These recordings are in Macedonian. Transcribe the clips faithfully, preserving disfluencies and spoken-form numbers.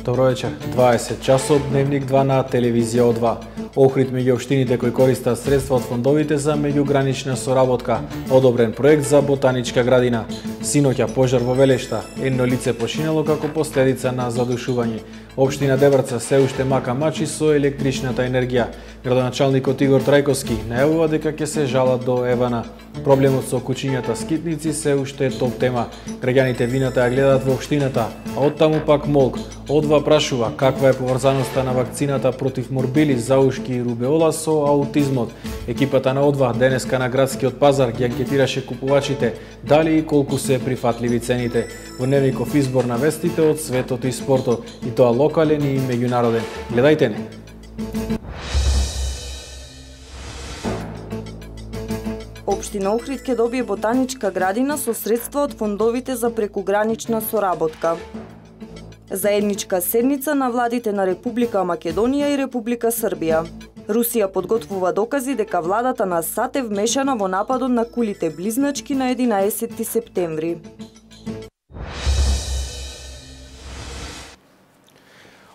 Добро вечер. дваесет часот, Дневник два на телевизија два. Охрид меѓу општините кои користат средства од фондовите за меѓугранична соработка. Одобрен проект за ботаничка градина. Синоќа пожар во Велешта. Едно лице починало како последица на задушување. Општина Дебрца се уште мака мачи со електричната енергија. Градоначалникот Игор Трајковски најавува дека ќе се жалат до Евана. Проблемот со кучињата скитници се уште е топ тема. Граѓаните вината ја гледаат во општината, а оттаму пак молк. Одва прашува каква е поврзаноста на вакцината против морбили, заушки и рубеола со аутизмот. Екипата на Одва денеска на градскиот пазар ги анкетираше купувачите дали и колку се прифатливи цените. Во Дневников избор на вестите од светот и спортот, и тоа локален и меѓународен. Гледајте не. Општина Охрид ќе добие ботаничка градина со средства од фондовите за прекугранична соработка. Заедничка седница на владите на Република Македонија и Република Србија. Русија подготвува докази дека владата на САД е вмешана во нападот на кулите близначки на единаесетти септември.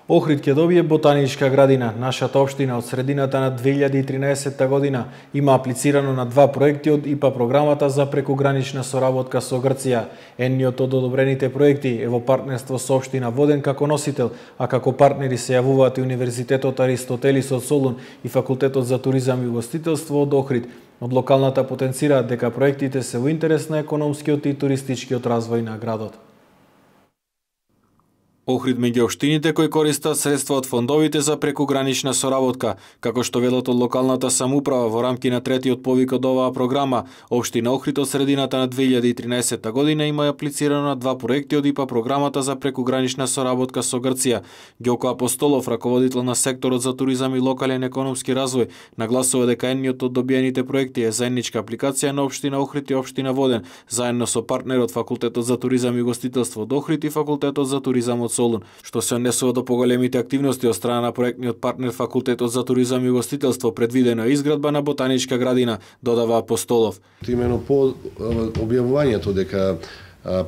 Охрид ќе добие ботаничка градина. Нашата општина од средината на две илјади и тринаесетта година има аплицирано на два проекти од ИПА програмата за прекугранична соработка со Грција. Едниот од одобрените проекти е во партнерство со општина Воден како носител, а како партнери се јавуваат и Универзитетот Аристотелис од Солун и Факултетот за туризам и угостителство од Охрид. Од локалната потенцираат дека проектите се во интерес на економскиот и туристичкиот развој на градот. Охрид меѓу општините кои користат средства од фондовите за прекугранична соработка, како што велат од локалната самоуправа во рамки на третиот повик од оваа програма. Општина Охрид од средината на две илјади и тринаесетта година има аплицирано на два проекти од ИПА програмата за прекугранична соработка со Грција. Ѓоко Апостолов, раководител на секторот за туризам и локален економски развој, нагласува дека едниот од добиените проекти е заедничка апликација на општина Охрид и општина Воден, заедно со партнерот Факултетот за туризам и угостителство од Охрид и Факултетот за туризам од Солун, што се однесува до поголемите активности од страна на проектниот партнер Факултетот за туризам и угостителство. Предвидено е изградба на ботаничка градина, додава Апостолов. Имено по објавувањето дека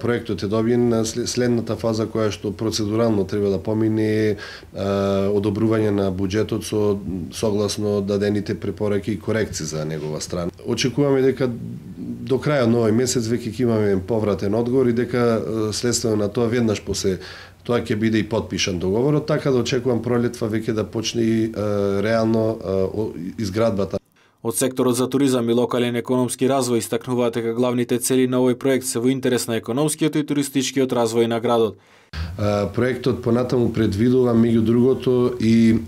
проектот е добиен, следната фаза која што процедурално треба да помине е одобрување на буџетот со согласно дадените препораки и корекции за негова страна. Очекуваме дека до крајот на овој месец веќе ќе имаме повратен одговор и дека следствено на тоа веднаш после тоа ќе биде и подпишан договорот, така да очекувам пролетва веќе да почне и реално изградбата. Од секторот за туризам и локален економски развој истакнуваат дека главните цели на овој проект се во интерес на економскиот и туристичкиот развој на градот. Проектот понатаму предвидува меѓу другото и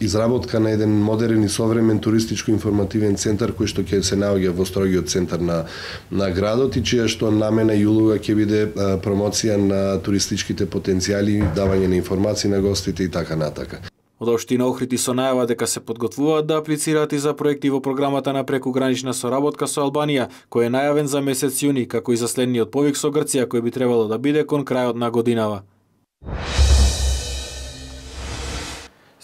изработка на еден модерен и современ туристичко-информативен центар кој што ќе се наоѓа во строгиот центар на на градот и чија што намена и улога ќе биде промоција на туристичките потенцијали, давање на информации на гостите и така натака. Од општина Охрид и со најава дека се подготвуваат да аплицираат и за проекти во програмата на прекугранична соработка со Албанија, кој е најавен за месец јуни, како и за следниот повик со Грција, кој би требало да биде кон крајот на годинава.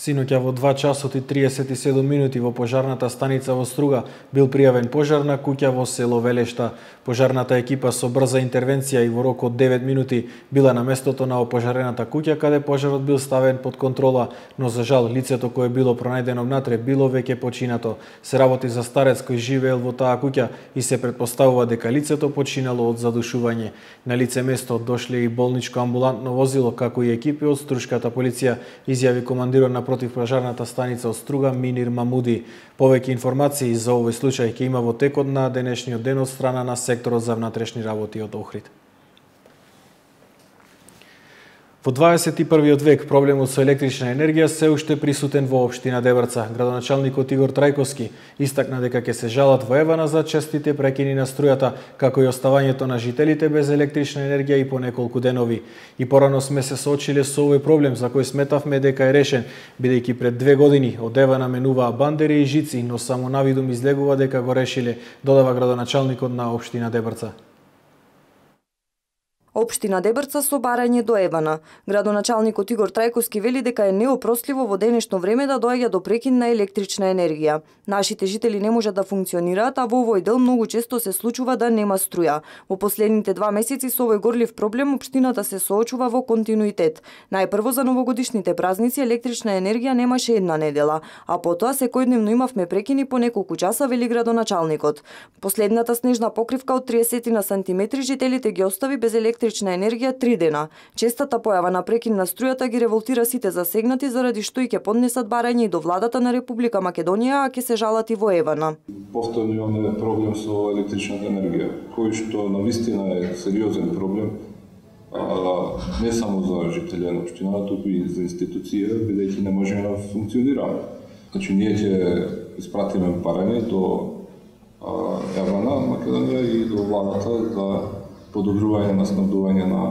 Синоќа во два часот и триесет и седум минути во пожарната станица во Струга бил пријавен пожар на куќа во село Велешта. Пожарната екипа со брза интервенција и во рок од девет минути била на местото на опожарената куќа каде пожарот бил ставен под контрола, но за жал лицето кое било пронајдено внатре било веќе починато. Се работи за старец кој живеел во таа куќа и се претпоставува дека лицето починало од задушување. На лице место дошле и болничко амбулантно возило како и екипи од струшката полиција, изјави командирот на противпожарната станица од Струга Минир Мамуди. Повеќе информации за овој случај ќе има во текот на денешниот ден од страна на секторот за внатрешни работи од Охрид. Во дваесет и првиот век проблемот со електрична енергија се уште присутен во општина Дебрца. Градоначалникот Игор Трајковски истакна дека ќе се жалат во Евана за честите прекини на струјата, како и оставањето на жителите без електрична енергија и по неколку денови. И порано сме се соочиле со овој проблем за кој сметавме дека е решен, бидејќи пред две години од Евана менуваа бандери и жици, но само навидум излегува дека го решиле, додава градоначалникот на општина Дебрца. Општина Дебрца со барање до Евана. Градоначалникот Игор Трајковски вели дека е неопростливо во денешно време да доаѓа до прекин на електрична енергија. Нашите жители не можат да функционираат, а во овој дел многу често се случува да нема струја. Во последните два месеци со овој горлив проблем општината се соочува во континуитет. Најпрво за новогодишните празници електрична енергија немаше една недела, а потоа секојдневно имавме прекини по неколку часа, вели градоначалникот. Последната снежна покривка од триесет сантиметри жителите ги остави без електрична енергија три дена. Честата појава на прекин на струјата ги револтира сите засегнати, заради што и ќе поднесат барање и до владата на Република Македонија, а ќе се жалат и во Евана. Повторно имаме проблем со електричната енергија, кој што навистина е сериозен проблем, а, не само за жители на општината, туку и за институција, бидејќи не можеме да функционираме. Значи, ние ќе испратиме барање до Евана, Македонија и до владата за подобрување на снабдување на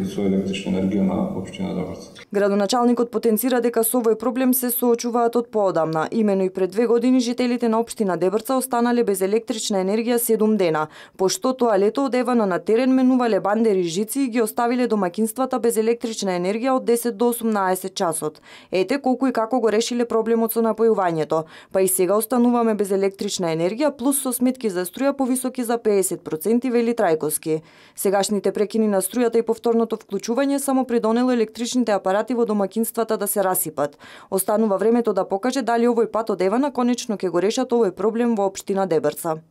со електрична енергија на општина Дебрца. Градоначалникот потенцира дека со овој проблем се соочуваат од поодамна. Имено и пред две години жителите на општина Дебрца останале без електрична енергија седум дена, пошто тоа лето од Евана на терен менувале бандери жици и ги оставиле домакинствата без електрична енергија од десет до осумнаесет часот. Ете колку и како го решиле проблемот со напојувањето. Па и сега остануваме без електрична енергија, плюс со сметки за струја повисоки за педесет проценти, вели Трајковски. Сегашните прекини на струјата и повторното вклучување само придонело електричните апарати во домакинствата да се расипат. Останува времето да покаже дали овој пат од Евана конечно ќе го решат овој проблем во општина Дебрца.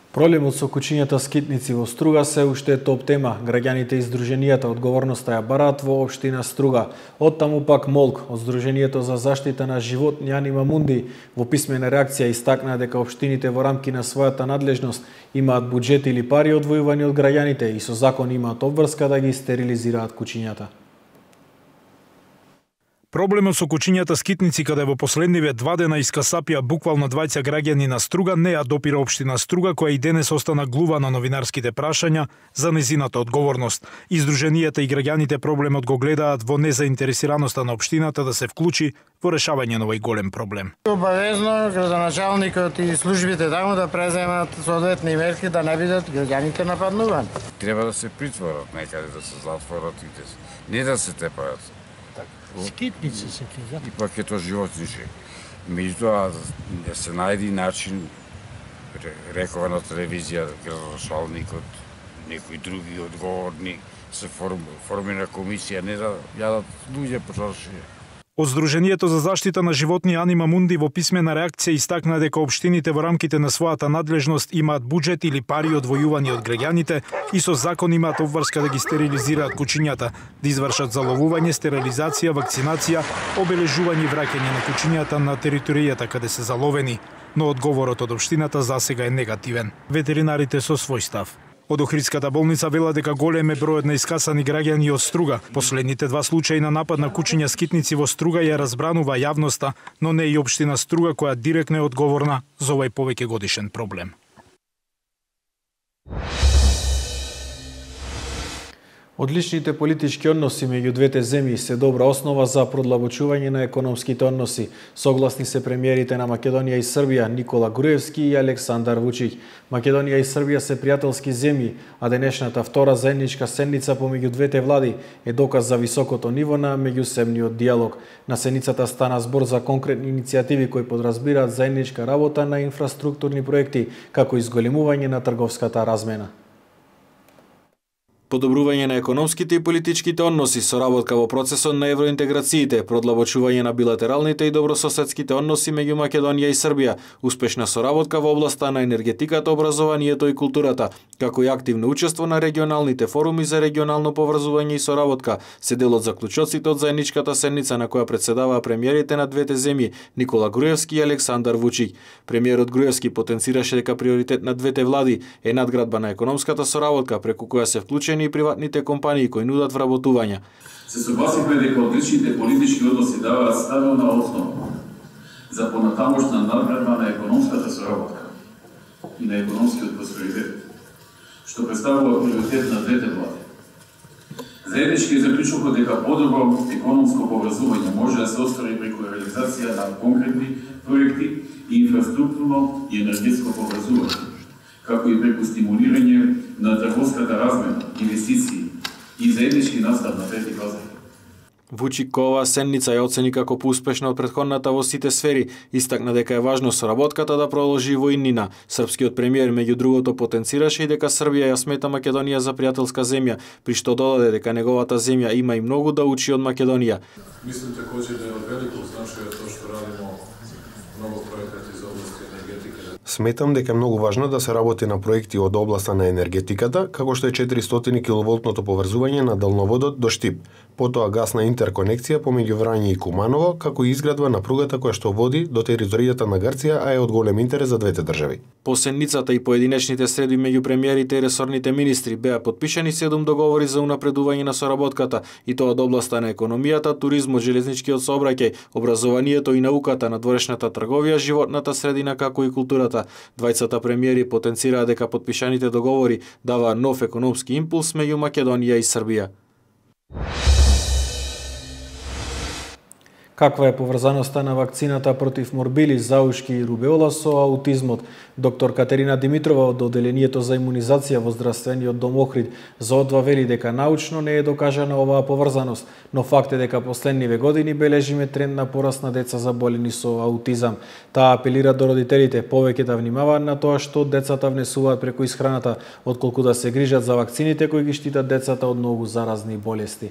Проблемот со кучињата скитници во Струга се уште е топ тема. Граѓаните и здруженијата одговорноста ја бараат во општина Струга. Оттаму пак Молк од Здруженијето за заштита на животни Анима Мунди во писмена реакција истакна дека општините во рамки на својата надлежност имаат буџет или пари одвојувани од граѓаните и со закон имаат обврска да ги стерилизираат кучињата. Проблемот со кучињата скитници, каде во последниве два дена искасапија буквално двајца граѓани на Струга, не ја допира општина Струга, која и денес остана глува на новинарските прашања за незината одговорност. Издруженијата и граѓаните проблемот го гледаат во незаинтересираноста на општината да се вклучи во решавање на овој голем проблем. Обавезно градоначалникот и службите таму да преземат соодветни мерки да не бидат граѓаните нападнувани. Треба да се притворат некаде, да се затворат и да се... не да се тепаат. Скитници се ти, да. И пак е тоа животнише. Меѓутоа, да се најди начин, рекова на телевизија, градоначалникот, некои други одговорни, се формира комисија, не да јадат луѓе по чаршија. Од Здруженијето за заштита на животни Анима Мунди во писмена реакција истакна дека општините во рамките на својата надлежност имаат буџет или пари одвојувани од граѓаните и со закон имаат обврска да ги стерилизираат кучињата, да извршат заловување, стерилизација, вакцинација, обележување и враќање на кучињата на територијата каде се заловени, но одговорот од општината засега е негативен. Ветеринарите со свој став. Од Охридската болница вела дека голем е бројот на искасани граѓани од Струга. Последните два случаи на напад на кучиња скитници во Струга ја разбранува јавноста, но не и општина Струга која директно е одговорна за овој повеќе годишен проблем. Одличните политички односи меѓу двете земји се добра основа за продлабочување на економските односи. Согласни се премиерите на Македонија и Србија Никола Груевски и Александар Вучиќ. Македонија и Србија се пријателски земји, а денешната втора заедничка седница помеѓу двете влади е доказ за високото ниво на меѓусебниот диалог. На седницата стана збор за конкретни иницијативи кои подразбираат заедничка работа на инфраструктурни проекти, како и зголемување на трговската размена. Подобрување на економските и политичките односи, соработка во процесот на евроинтеграциите, продлабочување на билатералните и добрососедските односи меѓу Македонија и Србија, успешна соработка во областа на енергетиката, образованието и културата, како и активно учество на регионалните форуми за регионално поврзување и соработка, се дел од заклучоците од заедничката седница на која претседаваа премиерите на двете земји Никола Груевски и Александар Вучиќ. Премиерот Груевски потенцираше дека приоритет на двете влади е надградба на економската соработка, преку која се вклучени и приватните компании кои нудат вработувања. Се согласивме дека одличните политички односи даваат стабилна основа за понатамошна надградба на економската соработка и на економскиот просперитет, што представува приоритет на двете влади. Заеднички заклучува дека подобро економско поврзување може да се оствари преку реализација на конкретни проекти и инфраструктурно и енергетско поврзување, како и преку стимулирање на трговската размена, инвестиции и заеднички настап на трети пазари. Вучик оваа седница ја оцени како поуспешна од претходната во сите сфери, истакна дека е важно соработката да продолжи во иднина. Српскиот премиер меѓу другото потенцираше и дека Србија ја смета Македонија за пријателска земја, при што додаде дека неговата земја има и многу да учи од Македонија. Мислим такоđe да е од велико значај тоа што радимо многу проекти за област енергетика. Сметам дека е многу важно да се работи на проекти од областа на енергетиката, како што е четиристотини киловолтното поврзување на далноводот до Штип, потоа гасна интерконекција помеѓу Врање и Куманово, како и изградба на пругата која што води до територијата на Грција, а е од голем интерес за двете држави. По седницата и поединечните средби меѓу премиерите и ресорните министри беа подпишани седум договори за унапредување на соработката, и тоа од областа на економијата, туризмот, железничкиот сообраќај, образованието и науката, надворешната трговија, животната средина како и културата. Двајцата премиери потенцираа дека подпишаните договори даваа нов економски импулс меѓу Македонија и Србија. Каква е поврзаноста на вакцината против морбили, заушки и рубеола со аутизмот? Доктор Катерина Димитрова од Оделението за имунизација во Здравствениот дом Охрид за одва вели дека научно не е докажана оваа поврзаност, но факт е дека последниве години бележиме тренд на пораст на деца заболени со аутизам. Таа апелира до родителите повеќе да внимаваат на тоа што децата внесуваат преку исхраната, отколку да се грижат за вакцините кои ги штитат децата од многу заразни болести.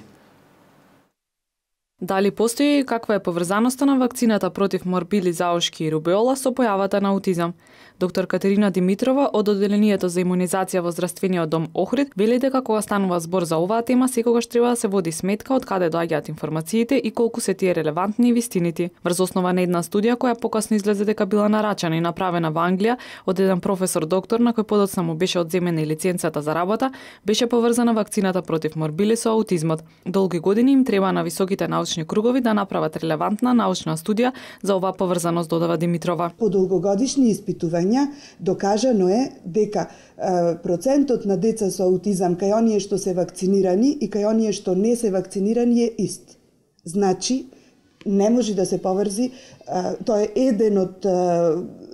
Дали постои и каква е поврзаноста на вакцината против морбили, заушки и рубеола со појавата на аутизам? Доктор Катерина Димитрова од Оделението за имунизација во Здравствениот дом Охрид вели дека кога станува збор за оваа тема, секогаш треба да се води сметка од каде доаѓаат информациите и колку се тие релевантни и вистинити. Врз основа на една студија која покасно излезе дека била нарачана и направена во Англија од еден професор доктор на кој подоцна му беше одземена и лиценцата за работа, беше поврзана вакцината против морбили со аутизмот. Долги години им треба на високите научни кругови да направат релевантна научна студија за оваа поврзаност, додава Димитрова. По долгогодишни испитувања докажано е дека е, процентот на деца со аутизам кај оние што се вакцинирани и кај оние што не се вакцинирани е ист. Значи, не може да се поврзи, е, тоа е еден од е,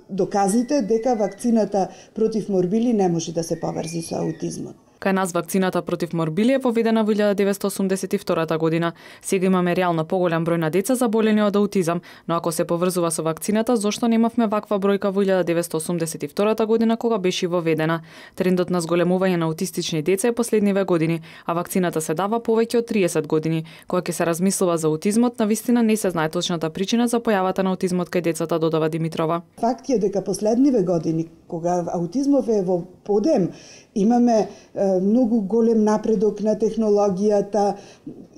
доказите дека вакцината против морбили не може да се поврзи со аутизмот. Кај нас вакцината против морбили е поведена во илјада деветстотини осумдесет и втора година. Сега имаме реално поголем број на деца заболени од аутизам, но ако се поврзува со вакцината, зошто немавме ваква бројка во илјада деветстотини осумдесет и втора година кога беше воведена? Трендот на зголемување на аутистични деца е последниве години, а вакцината се дава повеќе од триесет години. Кога ќе се размислува за аутизмот, навистина не се знае точната причина за појавата на аутизмот кај децата, додава Димитрова. Факт е дека последниве години, кога аутизмов е во подем, имаме е, многу голем напредок на технологијата,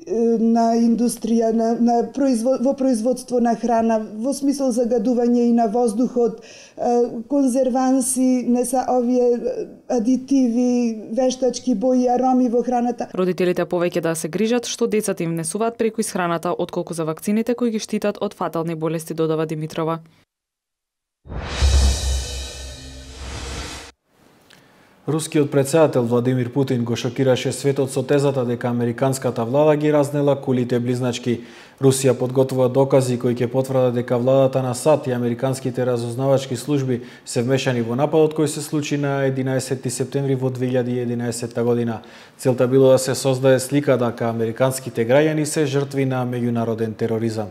е, на индустрија, на, на производ, во производство на храна, во смисол загадување и на воздухот, е, конзерванси, не са овие адитиви, вештачки бои, ароми во храната. Родителите повеќе да се грижат што децата им внесуваат преку исхраната, отколку за вакцините кои ги штитат од фатални болести, додава Димитрова. Рускиот претседател Владимир Путин го шокираше светот со тезата дека американската влада ги разнела кулите близначки. Русија подготвува докази кои ќе потврдат дека владата на САД и американските разузнавачки служби се вмешани во нападот кој се случи на единаесетти септември во две илјади и единаесетта година. Целта било да се создаде слика дека американските граѓани се жртви на меѓународен тероризам.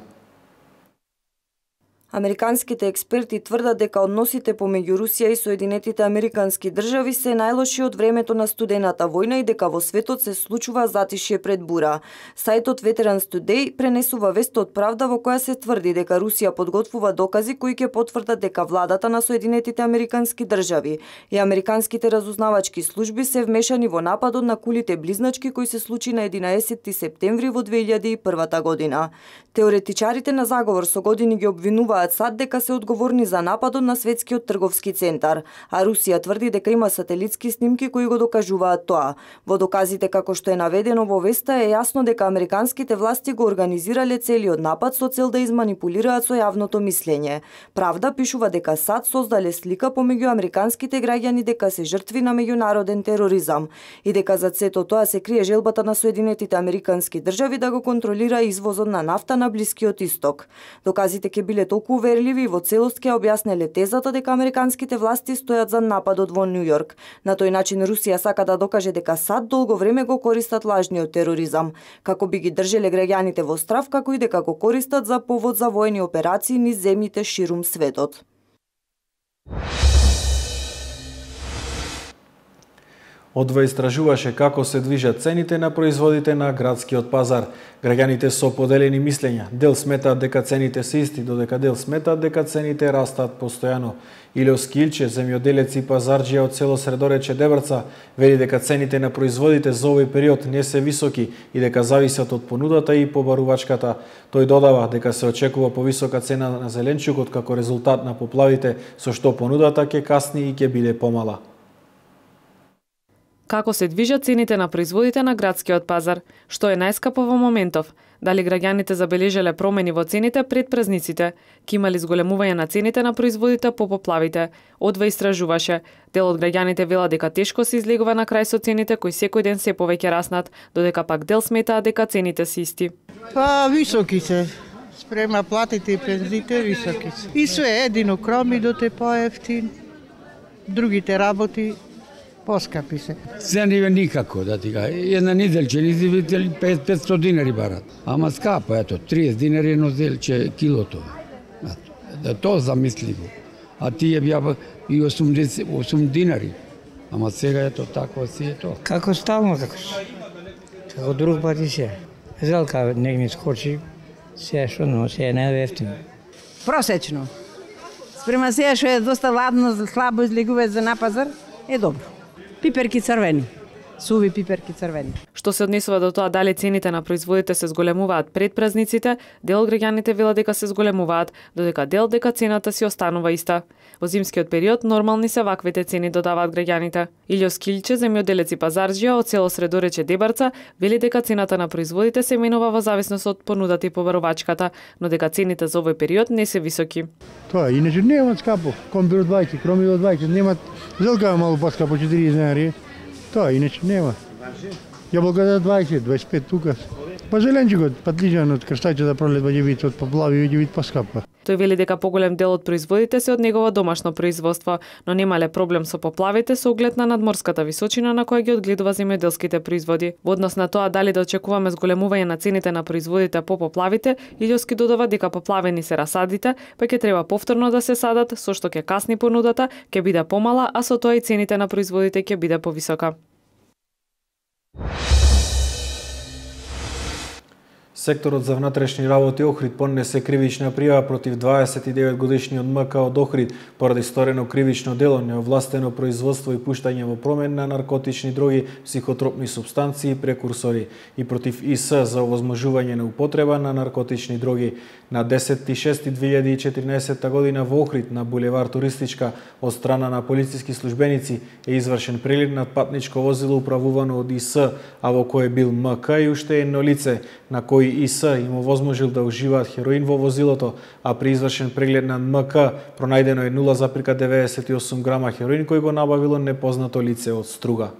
Американските експерти тврдат дека односите помеѓу Русија и Соединетите Американски држави се најлоши од времето на студената војна и дека во светот се случува затишје пред бура. Сајтот Veterans Today пренесува вест од Правда во која се тврди дека Русија подготвува докази кои ќе потврдат дека владата на Соединетите Американски држави и американските разузнавачки служби се вмешани во нападот на кулите близначки кој се случи на единаесетти септември во две илјади и прва година. Теоретичарите на заговор со години ги обвинуваат САД дека се одговорни за нападот на Светскиот трговски центар, а Русија тврди дека има сателитски снимки кои го докажуваат тоа. Во доказите како што е наведено во веста е јасно дека американските власти го организирале целиот напад со цел да изманипулираат со јавното мислење. Правда пишува дека САД создале слика помеѓу американските граѓани дека се жртви на меѓународен тероризам и дека за сето тоа се крие желбата на Соединетите Американски држави да го контролира извозот на нафта на Блискиот Исток. Доказите ќе биле толку толку уверливи и во целост ќе објаснеле тезата дека американските власти стојат за нападот во Нью Йорк. На тој начин Русија сака да докаже дека САД долго време го користат лажниот тероризам, како би ги држеле граѓаните во страв, како и дека го користат за повод за воени операции низ земјите ширум светот. Одва истражуваше како се движат цените на производите на градскиот пазар. Граѓаните со поделени мислења. Дел сметаат дека цените се исти, додека дел сметаат дека цените растат постојано. Илио Скилче, земјоделец и пазарџија од село Средорече Дебрца, вели дека цените на производите за овој период не се високи и дека зависат од понудата и побарувачката. Тој додава дека се очекува повисока цена на зеленчукот како резултат на поплавите, со што понудата ќе касни и ќе биде помала. Како се движат цените на производите на градскиот пазар? Што е најскапо во моментов? Дали граѓаните забележале промени во цените пред празниците? Ки имали зголемување на цените на производите по поплавите? Одва истражуваше. Дел од граѓаните вела дека тешко се излегува на крај со цените кои секој ден се повеќе раснат, додека пак дел сметаа дека цените се исти. Па високи се. Спрема платите и пензите високи се. И све едино кромидот е поевтин. Другите работи поскапи се. Цениве никако, да ти кажа. Една неделче низивители петстотини динари барат. Ама скапо, ето, триесет динари едно зелче килото. Да то замисливо. А тие бија и осумдесет, осум динари. Ама сега ето тако си е то. Како стално како си. Како друг пати се. Зелка не ми скочи, се што, но се е најевтино. Просечно. Спрема сега што е доста ладно, слабо излегува за на пазар, е добро. Пиперки црвени. Суви пиперки црвени. Што се однесува до тоа дали цените на производите се зголемуваат пред празниците, дел од граѓаните вела дека се зголемуваат, додека дел дека цената си останува иста. Во зимскиот период нормални се ваквите цени, додаваат граѓаните. Илио Скилче, земјоделец и пазарџија од село Средорече Дебрца, вели дека цената на производите се менува во зависност од понудата и побарувачката, но дека цените за овој период не се високи. Тоа иначе нема скапо, комбир од двајцет, кромир од двајцет, нема зелка малку поскапо четириесет динари. Тоа иначе нема. Јаболката двајцет, двајцет и пет тука. Па зеленчукот, патлиџанот, крстајчата пролет ќе вид од поплави ќе вид поскапа. Тој вели дека поголем дел од производите се од негово домашно производство, но немале проблем со поплавите со оглед на надморската височина на која ги одгледува земјоделските производи. Во однос на тоа дали да очекуваме зголемување на цените на производите по поплавите, Илјоски додава дека поплавени се расадите, па ќе треба повторно да се садат, со што ќе касни понудата, ќе биде помала, а со тоа и цените на производите ќе биде повисока. Секторот за внатрешни работи Охрид поднесе кривична пријава против дваесет и девет годишниот МК од Охрид поради сторено кривично дело, неовластено производство и пуштање во промен на наркотични дроги, психотропни супстанции и прекурсори, и против ИС за овозможување на употреба на наркотични дроги. На десети шести две илјади и четиринаесетта година во Охрид на булевар Туристичка од страна на полициски службеници е извршен преглед над патничко возило управувано од ИС, а во кое бил МК и уште едно лице, на кој ИС им овозможил да уживаат хероин во возилото, а при извршен преглед на МК пронајдено е нула зарез деветдесет и осум грама хероин кој го набавило непознато лице од Струга.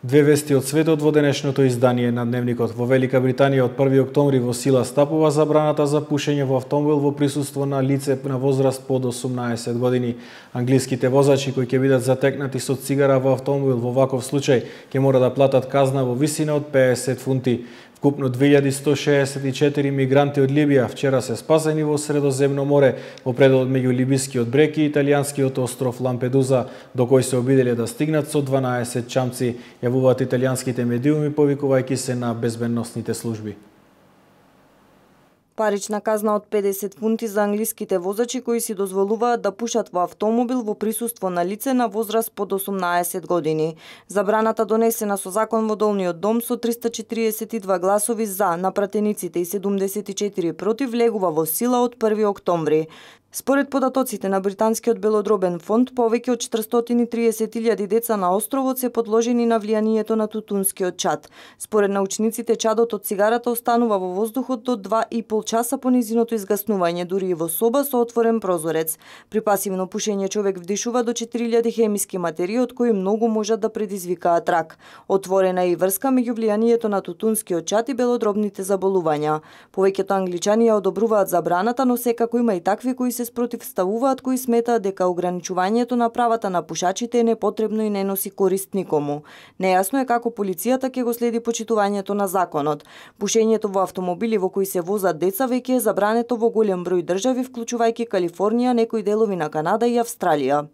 Две вести од светот во денешното издание на Дневникот. Во Велика Британија од први октомври во сила стапува забраната за пушење во автомобил во присуство на лице на возраст под осумнаесет години. Англиските возачи кои ќе бидат затекнати со цигара во автомобил во ваков случај ќе мора да платат казна во висина од педесет фунти. Вкупно две илјади сто шеесет и четири мигранти од Либија вчера се спасени во Средоземно море во пределот меѓу либискиот брег и италијанскиот остров Лампедуза, до кој се обиделе да стигнат со дванаесет чамци, јавуваат италијанските медиуми повикувајќи се на безбедносните служби. Парична казна од педесет фунти за англиските возачи кои си дозволуваат да пушат во автомобил во присуство на лице на возраст под осумнаесет години. Забраната донесена со закон во Долниот дом со триста четириесет и два гласови за на пратениците и седумдесет и четири против влегува во сила од први октомври. Според податоците на британскиот белодробен фонд, повеќе од четиристотини и триесет илјади деца на островот се подложени на влијанието на тутунскиот чад. Според научниците, чадот од цигарата останува во воздухот до два и пол часа по низиното изгаснување, дури и во соба со отворен прозорец. При пасивно пушење човек вдишува до четири илјади хемиски материи, од кои многу можат да предизвикаат рак. Отворена е и врска меѓу влијанието на тутунскиот чад и белодробните заболувања. Повеќето англичани ја одобруваат забраната, но секако има и такви кои се спротивставуваат, кои сметаат дека ограничувањето на правата на пушачите е непотребно и не носи корист никому. Нејасно е како полицијата ќе го следи почитувањето на законот. Пушењето во автомобили во кои се возат деца веќе е забрането во голем број држави, вклучувајќи Калифорнија, некои делови на Канада и Австралија.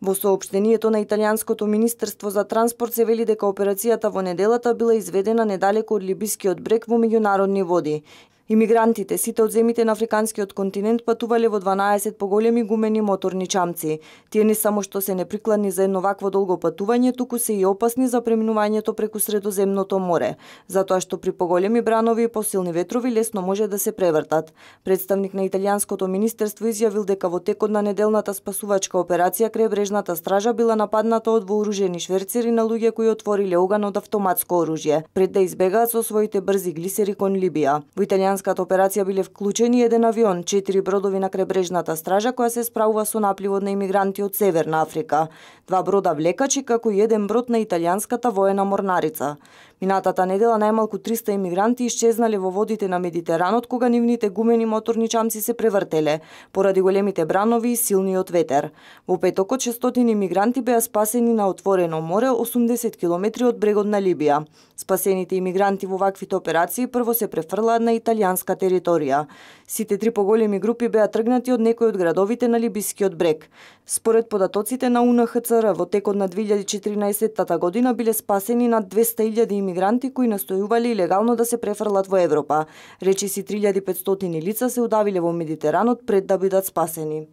Во соопштението на Италијанското министерство за транспорт се вели дека операцијата во неделата била изведена недалеку од либискиот брег во меѓународни води. Имигрантите, сите од земјите на африканскиот континент, патувале во дванаесет поголеми гумени моторни чамци. Тие не само што се неприкладни за едно вакво долго патување, туку се и опасни за преминувањето преку Средоземното море, затоа што при поголеми бранови и посилни ветрови лесно може да се превртат. Представник на Италијанското министерство изјавил дека во текот на неделната спасувачка операција крајбрежната стража била нападната од вооружени шверцери на луѓе кои отвориле оган од автоматско оружје, пред да избегаат со своите брзи глисери кон Либија. Во италијанската операција биле вклучени еден авион, четири бродови на крајбрежната стража која се справува со напливот на имигранти од Северна Африка, два брода влекачи како и еден брод на италијанската воена морнарица. Минатата недела најмалку триста имигранти исчезнале во водите на Медитеранот кога нивните гумени моторни чамци се превртеле поради големите бранови и силниот ветер. Во петокот шестстотини имигранти беа спасени на отворено море осумдесет километри од брегот на Либија. Спасените имигранти во ваквите операции прво се префрлаат на италијанска територија. Сите три поголеми групи беа тргнати од некои од градовите на либискиот брег. Според податоците на У Н Х Ц Р, во текот на две илјади и четирнаесетта година биле спасени над двеста илјади имигранти кои настојувале илегално да се префрлат во Европа. Речиси три илјади и петстотини лица се удавиле во Медитеранот пред да бидат спасени.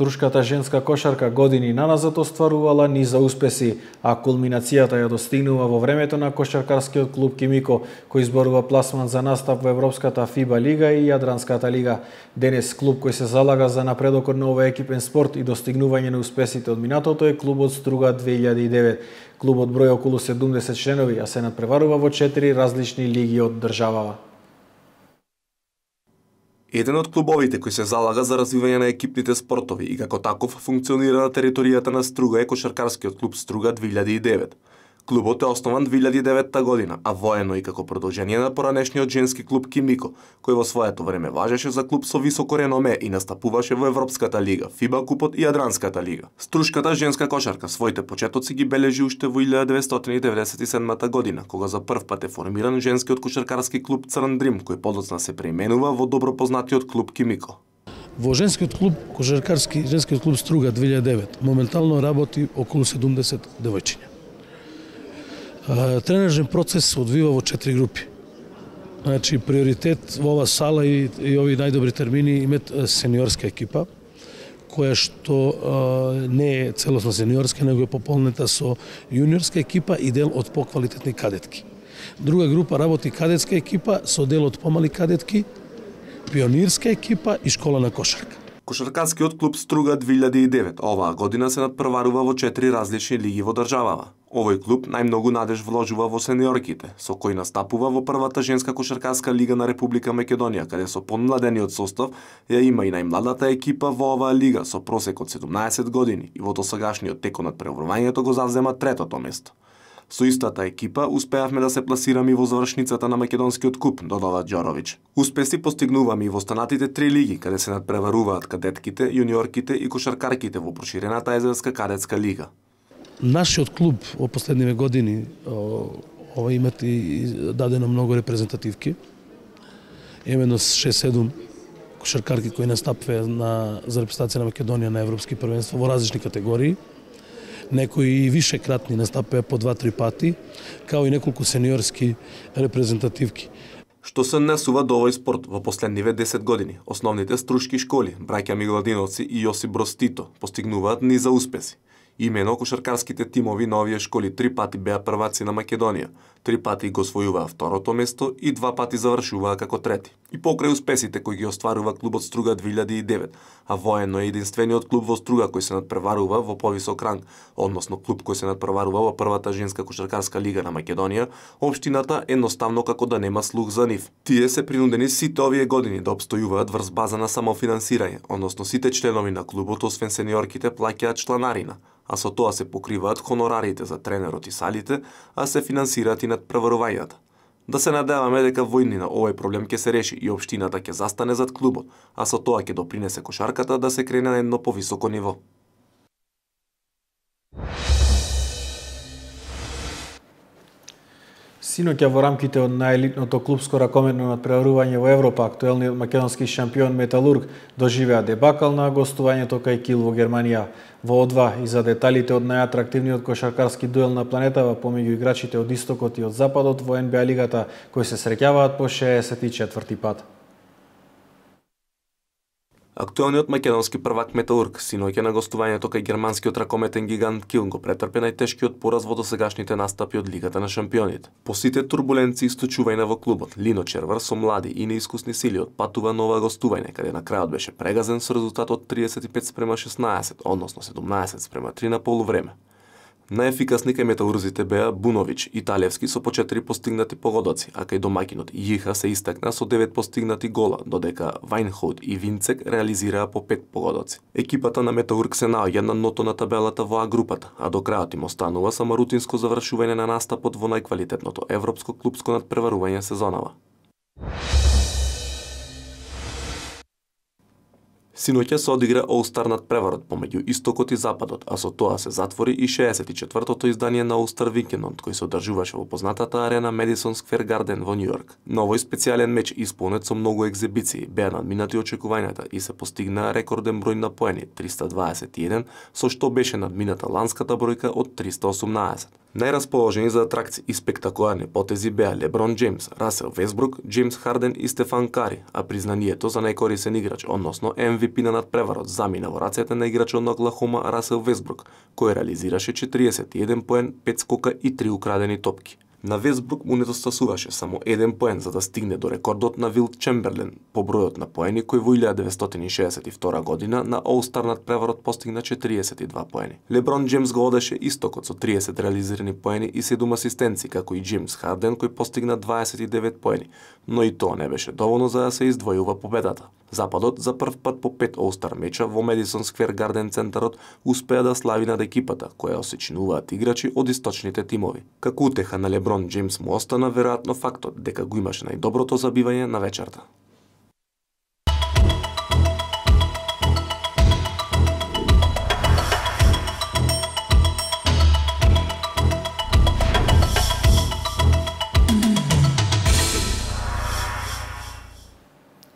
Турската женска кошарка години наназад остварувала низа успеси, а кулминацијата ја достигнува во времето на кошаркарскиот клуб Кимико, кој изборува пласман за настап во Европската фиба лига и Јадранската лига. Денес клуб кој се залага за напредокот на овој екипен спорт и достигнување на успесите од минатото е клубот Струга две илјади и девет. Клубот број околу седумдесет членови, а се надпреварува во четири различни лиги од државава. Еден од клубовите кој се залага за развивање на екипните спортови и како таков функционира на територијата на Струга е кошаркарскиот клуб Струга две илјади и девет. Клубот е основан две илјади и деветта година, а воено и како продолжение на поранешниот женски клуб Кимико, кој во своето време важеше за клуб со високо реноме и настапуваше во Европската лига, фиба купот и Јадранската лига. Струшката женска кошарка своите почетоци ги бележи уште во илјада деветстотини и деветдесет и седма година, кога за прв пат е формиран женскиот кошаркарски клуб Црн Дрим, кој подоцна се преименува во добро познатиот клуб Кимико. Во женскиот клуб кошаркарски женскиот клуб Струга две илјади и девет моментално работи околу седумдесет девојчиња. Тренажен процес се одвива во четири групи. Значи, приоритет во ова сала и, и ови најдобри термини имат сениорска екипа, која што а, не е целосно сениорска, него е пополнета со јуниорска екипа и дел од поквалитетни кадетки. Друга група работи кадетска екипа со дел од помали кадетки, пионирска екипа и школа на кошарка. Кошаркарскиот клуб Струга две илјади и девет оваа година се надпреварува во четири различни лиги во државава. Овој клуб најмногу надеж вложува во сениорките, со кој настапува во првата женска кошаркарска лига на Република Македонија, каде со помладениот состав ја има и најмладата екипа во оваа лига со просек од седумнаесет години и во досегашниот текот на преврувањето го завзема третото место. Со истата екипа успеавме да се пласираме и во завршницата на македонскиот куп, додава Џоровиќ. Успеси постигнуваме и во останатите три лиги, каде се надпреваруваат кадетките, јуниорките и кошаркарките во проширената езерска кадетска лига. Нашиот клуб во последниве години ова имат и дадено многу репрезентативки. Имено шест-седум кошаркарки кои настапваат на за репрезентација на Македонија на европски првенства во различни категории. Некои и вишекратни настапија по два-три пати, као и неколку сениорски репрезентативки. Што се однесува до овој спорт во последниве десет години, основните струшки школи, браќа Мигладиновци и Јосип Броз Тито, постигнуваат низа успеси. Имено кошаркарските тимови на овие школи три пати беа прваци на Македонија, три пати го освојуваа второто место и два пати завршуваа како трети. И покрај успесите кои ги остварува клубот Струга две илјади и девет, а воено е единствениот клуб во Струга кој се надпреварува во повисок ранг, односно клуб кој се надпреварува во првата женска кошаркарска лига на Македонија, општината едноставно како да нема слух за нив. Тие се принудени сите овие години да обстојуваат врз база на самофинансирање, односно сите членови на клубот освен сениорките плаќаат чланарина, а со тоа се покриваат хонорарите за тренерот и салите, а се финансираат и надпреварувањата. Да се надеваме дека во иднина овој проблем ќе се реши и општината ќе застане зад клубот, а со тоа ќе допринесе кошарката да се крене на едно повисоко ниво. Синоќа во рамките од најелитното клупско ракометно надпреварување во Европа, актуелниот македонски шампион Металург доживеа дебакал на гостувањето кај Кил во Германија. Во О два и за деталите од најатрактивниот кошаркарски дуел на планетава помеѓу играчите од истокот и од западот во Ен Би А лигата, кои се среќаваат по шеесет и четврти пат. Актуелниот македонски првак Металург синоќа на гостувањето кај германскиот ракометен гигант Кил го претрпе најтешкиот пораз во досегашните настапи од Лигата на шампионите. По сите турбуленции и сточувања во клубот, Лино Червар со млади и неискусни сили отпатува на ова гостување, каде на крајот беше прегазен со резултат од триесет и пет спрема шеснаесет, односно седумнаесет спрема три на полувреме. Најефикасни кај металурзите беа Бунович и Талевски со по четири постигнати погодоци, а кај домакинот Јиха се истакна со девет постигнати гола, додека Вајнхоут и Винцек реализираа по пет погодоци. Екипата на Металург се наоѓа на ното на табелата во А групата, а до крајот им останува само рутинско завршување на настапот во најквалитетното европско клупско надпреварување сезонава. Синоќа се одигра All-Star надпреварот помеѓу Истокот и Западот, а со тоа се затвори и шеесет и четвртото издание на All-Star викендот, кој се одржуваше во познатата арена Madison Square Garden во Њујорк. На овој специјален меч исполнет со многу екзибиции, беа надминати очекувањата и се постигнаа рекорден број на поени триста дваесет и еден, со што беше надмината ланската бројка од триста осумнаесет. Најрасположени за атракции и спектакуларни потези беа Леброн Джеймс, Расел Весбрук, Джеймс Харден и Стефан Кари, а признанието за најкорисен играч, односно Ем Ви Пи на надпреварот, замина во рацете на играчот на Оклахома Расел Весбрук, кој реализираше четириесет и еден поен, пет скока и три украдени топки. На Весбрук му недостасуваше само еден поен за да стигне до рекордот на Вилт Чемберлен по бројот на поени кој во илјада деветстотини шеесет и втора година на All-Star надпреварот постигна четириесет и два поени. Леброн Джеймс го одеше Истокот со триесет реализирани поени и седум асистенци, како и Джеймс Харден кој постигна дваесет и девет поени, но и тоа не беше доволно за да се издвојува победата. Западот за прв пат по пет All-Star меча во Madison Square Garden центарот успеа да слави над екипата, која осечинуваат играчи од источните тимови. Како утеха на Леброн Джеймс му остана веројатно фактот дека го имаше најдоброто забивање на вечерта.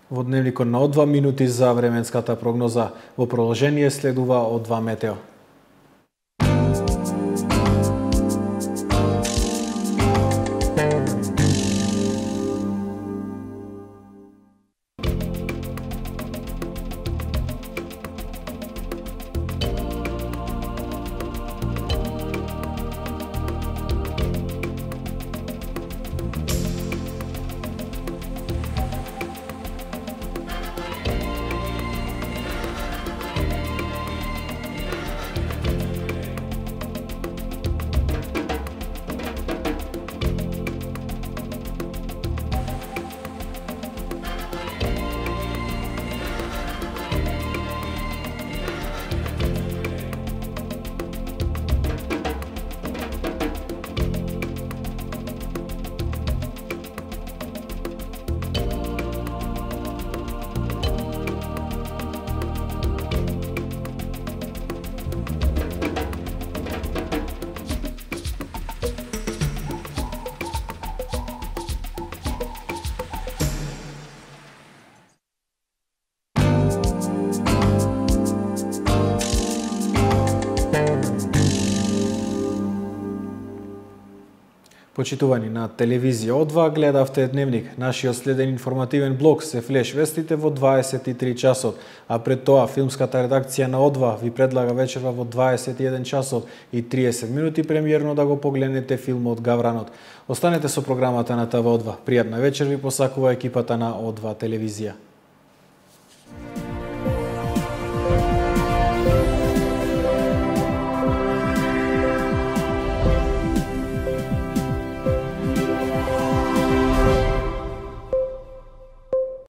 Во дневникот на О два минути за временската прогноза. Во продолжение следува О два метео. Почитувани на телевизија О два, гледавте Дневник. Нашиот следен информативен блок се флеш вестите во дваесет и три часот, а пред тоа филмската редакција на О два ви предлага вечерва во дваесет и еден часот и триесет минути премиерно да го погледнете филмот Гавранот. Останете со програмата на ТВ О два. Пријатна вечер ви посакува екипата на О два телевизија.